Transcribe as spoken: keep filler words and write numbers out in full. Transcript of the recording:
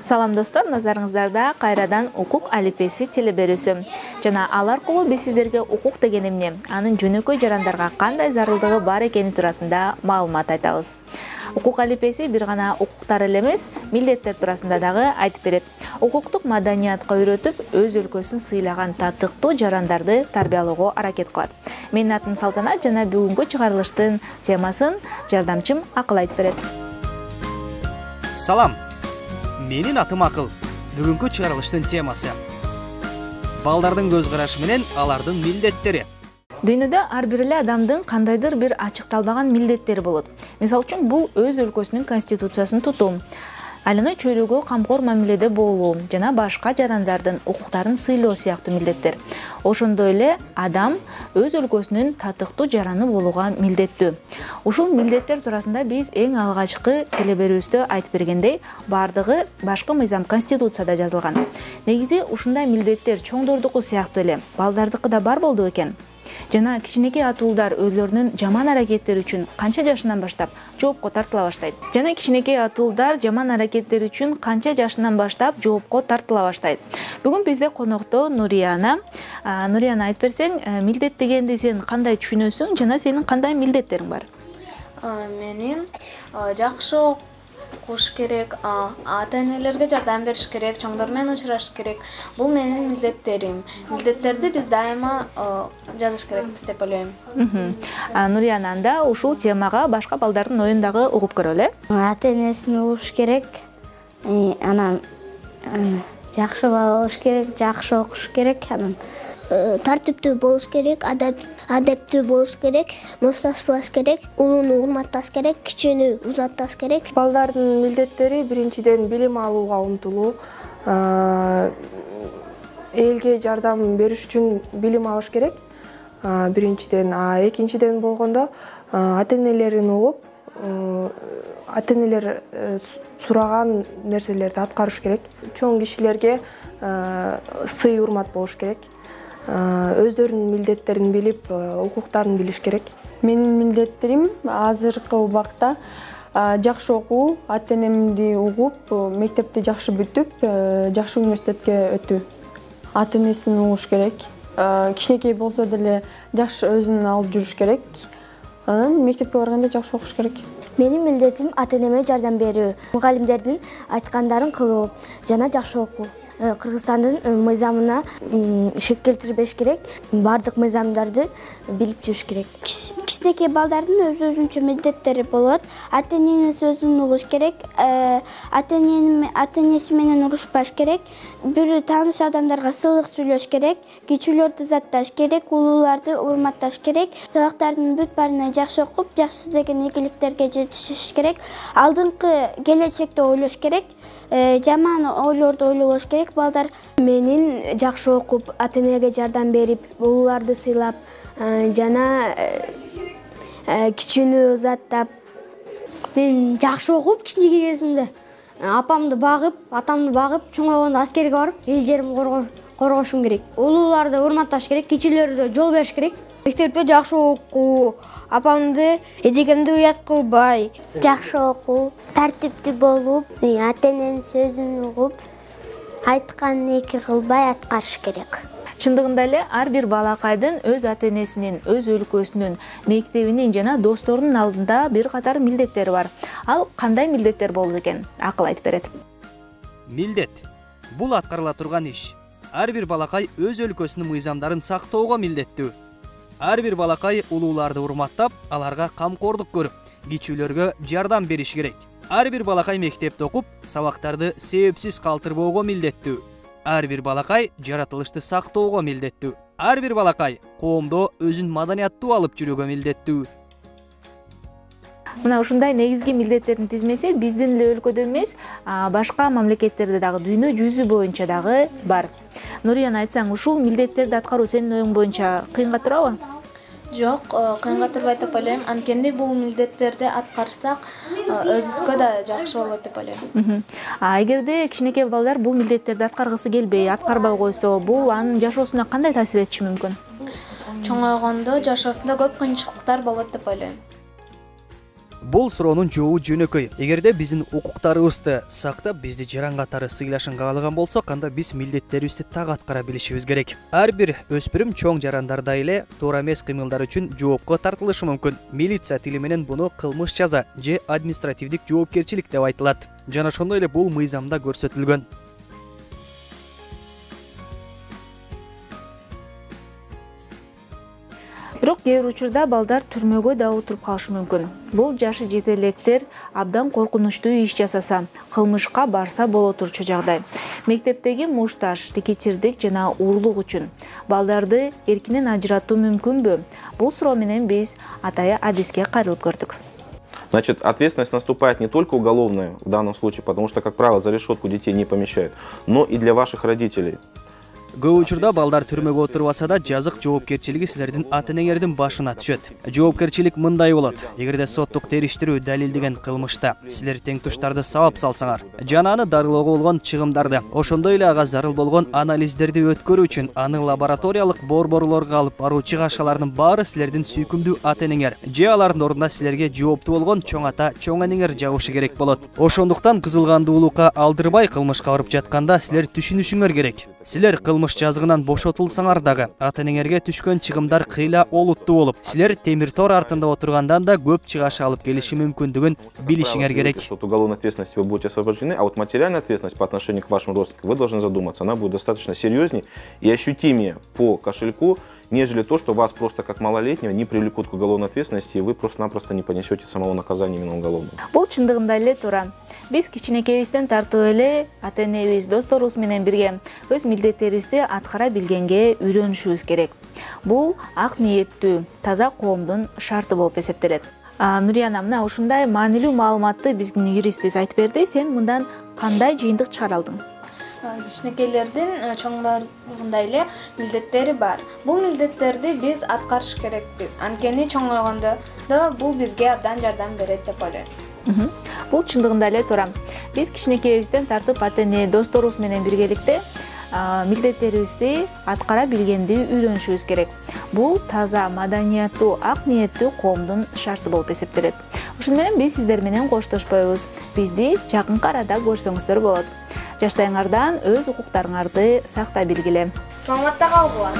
Салам достор, назарыңыздарда кайрадан укук алифбеси телеберүүсү. Жана ал аркылуу биз сиздерге укук деген эмне, анын жөнөкөй жарандарга кандай зарылдыгы бар экени туурасында маалымат айтабыз. Укук алифбеси бир гана укуктар эле эмес, милдеттер туурасында дагы айтып берет. Укуктук маданиятка үйрөтүп, өз өлкөсүн сыйлаган татыктуу жарандарды тарбиялоого аракет кылат. Менин атым Салтанат жана бүгүнкү чыгарылыштын темасын жардамчым Акыл айтып берет. Салам. Менин атым Акыл. Бүгүнкү чыгарылыштын темасы балдардын көз карашы менен алардын милдеттери. Дүйнөдө ар бир эле адамдын кандайдыр бир ачыкталбаган милдеттери болот. Мисалы үчүн бул өз өлкөсүнүн конституциясын тутуу, айлана чөйрөгө камкор мамиледе болуу жана башка жарандардын укуктарын сыйлоо сыяктуу милдеттер. Ошондой эле адам өз өлкөсүнүн татыктуу жараны болууга милдеттүү. Ушул милдеттер туурасында биз эң алгачкы телеберүүбүздө айтып бергендей, бардыгы башкы мыйзам конституцияда жазылган. Негизи ушундай милдеттер чоңдордуку сыяктуу эле балдардыкы да бар болду экен. Жана кичинекей атуулдар өзлөрүнүн жаман аракеттери үчүн канча жашынан баштап жоопко тартыла баштайт. Жана кичинекей атуулдар жаман аракеттери үчүн канча жашынан баштап жоопко тартыла баштайт. Бүгүн бизде конокто Нурияна. Нурияна, айтып берсең, милдет дегенди сен кандай түшүнөсүң жана сенин кандай милдеттериң бар? Менин жакшы окуш керек, ата-энелерге жардам бериш керек, чоңдор менен учурашыш керек. Бул менин милдеттерим. Милдеттерди биз дайыма жазыш керекпиз деп ойлойм. Нурияна, анда ушул темага башка балдардын оюн дагы угуп көрөлү. Ата-энесин угуш керек, анан жакшы бала болуш керек, жакшы окуш керек, анан тартиптүү болуш керек, адептүү болуш керек, мушташпаш керек, улууну урматташ керек, кичүүнү узатташ керек. Балдардын милдеттери биринчиден билим алууга умтулуу, элге жардам бериш үчүн билим алыш керек. Биринчиден, экинчиден болгондо ата-энелерин угуп, ата-энелер сураган нерселерди аткарыш керек. Чоң кишилерге сый урмат болуш керек. Өздөрүнүн милдеттерин билип, укуктарын билиш керек. Менин милдеттерим азыркы убакта жакшы окуу, ата-энемди угуп, мектепти жакшы бүтүп, жакшы университетке өтүү. Ата-энесин угуш керек. Кичинекей болсо деле жакшы өзүн алып жүрүш керек. Анан мектепке барганда жакшы окуш керек. Менин милдетим ата-энеме жардам берүү, мугалимдердин айткандарын кылуу жана жакшы окуу. Кыргызстандын мыйзамына шек келтирбеш керек, бардык мыйзамдарды билип жүрүш керек. Кичинекей балдардын өз өзүнчө милдеттери болот. Ата-энени сөзүн угуш керек, ата-энеси менен урушпаш керек, бир тааныш адамдарга сылык сүйлөш керек, кичүүлөрдү узатташ керек, улууларды урматташ керек, сабактардын бүт баарына жакшы окуп, жакшы деген ийгиликтерге жетишиш керек, алдыңкы келечекти ойлош керек, жаман ойлорду ойлобош керек. Балдар менин жакшы окуп, ата-энеге жардам берип, улууларды сыйлап, жана кичүүнү узаттап, мен жакшы окуп, кичинекей кезимде апамды багып, атамды багып, чоңойгондо аскерге барып, эл жеримди коргошум керек. Улууларды урматташ керек, кичүүлөргө жол бериш керек. Мектепте жакшы окуу, апамды, эжекемди уят кылбай. Жакшы окуу, тартиптүү болуп, ата-эненин сөзүн угуп, айтканын эки кылбай аткарыш керек. Чындыгында эле ар бир балакайдын өз ата-энесинин, өз өлкөсүнүн, мектебинин жана досторунун алдында бир катар милдеттери бар. Ал кандай милдеттер болот экен? Акыл айтып берет. Милдет бул аткарыла турган иш. Ар бир балакай өз өлкөсүнүн мыйзамдарын сактоого милдеттүү. Ар бир балакай улууларды урматтап, аларга камкордук көрүп, кичүүлөргө жардам бериш керек. Ар бир балакай мектепте окуп, сабактарды себепсиз калтырбоого милдеттүү. Ар бир балакай жаратылышты сактоого милдеттүү. Ар бир балакай коомдо өзүн маданияттуу алып жүрүүгө милдеттүү. Мына ушундай негизги милдеттердин тизмеси биздин эле өлкөдө эмес, башка мамлекеттерде дагы, дүйнө жүзү боюнча дагы бар. Нурияна, айтсаң, ушул милдеттерди аткаруу сенин оюң боюнча кыйынга турабы? Жок, кыйынга турбайт деп ойлойм. Анткени бул милдеттерди аткарсак, өзүбүзгө да жакшы болот деп ойлойм. А эгерде кичинекей балдар бул милдеттерди аткаргысы келбей, аткарбай койсо, бул анын жашоосуна кандай таасир этиши мүмкүн? Чоңойгондо жашоосунда көп кыйынчылыктар болот деп ойлойм. Бул суроонун жообу жөнөкөй. Эгерде биздин укуктарыбызды сактап, бизди жаран катары сыйлашын каалаган болсок, анда биз милдеттерибизди так аткара билишибиз керек. Ар бир өспүрүм чоң жарандардай эле туура эмес кыймылдар үчүн жоопко тартылышы мүмкүн. Милиция тили менен буну кылмыш жаза же административдик жоопкерчилик деп айтылат. Жана ошондой эле бул мыйзамда көрсөтүлгөн. Бирок кээ бир учурда балдар түрмөгө да отуруп калышы мүмкүн. Бул жашы жете электер абдан коркунучтуу иш жасаса, кылмышка барса боло турчу жагдай. Мектептеги мушташ, рекетирдик жана урлук үчүн балдарды эркинен ажыратуу мүмкүнбү? Бул суроо менен биз атайы адиске кайрылып көрдүк. Значит, ответственность наступает не только уголовная в данном случае, потому что, как правило, за решетку детей не помещают, но и для ваших родителей. Көп учурда балдар түрмөгө отурбаса да жазык жоопкерчилиги силердин ата-энеңердин башына түшөт. Жоопкерчилик мындай болот. Эгерде соттук териштирүү далилдеген кылмышта силер теңтуштарды сабап салсаңар, жана аны дарылоого болгон чыгымдарды, ошондой эле ага зарыл болгон анализдерди өткөрүү үчүн аны лабораториялык борборлорго алып баруу чыгашаларынын баары силердин сүйкүмдүү ата-энеңер же алардын ордуна силерге жооптуу болгон чоң ата, чоң энеңер жагышы керек болот. Ошондуктан кызылгандуулукка алдырбай кылмышка барып жатканда силер түшүнүшүңөр керек. Силер кылмыш жазыгынан бошотулсаңар дагы ата-энеңерге түшкөн чыгымдар кыйла олуттуу болуп, силер темир тор артында отургандан да көп чыгаш алып келиши мүмкүндүгүн билишиңер керек. От уголовной ответственности вы будете освобождены, а вот материальная ответственность по отношению к вашим родственникам, вы должны задуматься, она будет достаточно серьезнее и ощутимее по кошельку, нежели то, что вас просто как малолетнего не привлекут к уголовной ответственности, и вы просто-напросто не понесете самого наказания именно уголовного. Бул чындыгында эле туура. Биз кичинекейибизден тартып эле ата-энебиз, досторубуз менен бирге өз милдеттерибизди аткара билгенге үйрөнүшүбүз керек. Бул ак ниеттүү, таза коомдун шарты болуп эсептелет. Нурияна, мына ушундай маанилүү маалыматты биздин юристибиз айтып берди. Сен мындан кандай жыйынтык чыгара алдың? Кичинекейлердин чоңдордундай эле милдеттери бар. Бул милдеттерди биз аткарыш керекпиз. Анткени чоңойгондо да бул бизге абдан жардам берет деп ойлойм. Бул чындыгында эле туура. Биз кичинекейибизден тартып ата-эне, досторубуз менен биргеликте милдеттерибизди аткара билгенди үйрөнүшүбүз керек. Бул таза, маданияттуу, ак ниеттүү коомдун шарты болуп эсептелет. Ошону менен биз сиздер менен коштошпойбуз. Бизди жакынкы арада көрсөңүздөр болот. Жаштайыңардан өз укуктарыңарды сактай билгиле. Саламатта калгыла.